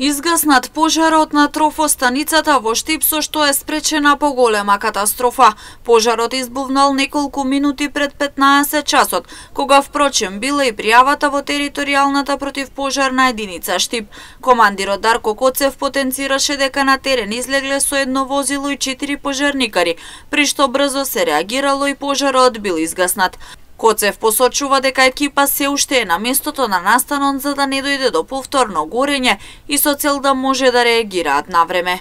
Изгаснат пожарот на трофостаницата во Штип, со што е спречена поголема катастрофа. Пожарот избувнал неколку минути пред 15 часот, кога впрочем била и пријавата во територијалната противпожарна единица Штип. Командирот Дарко Коцев потенцираше дека на терен излегле со едно возило и 4 пожарникари, при што брзо се реагирало и пожарот бил изгаснат. Коцев посочува дека екипа се уште е на местото на настанот за да не дојде до повторно горење и со цел да може да реагираат навреме.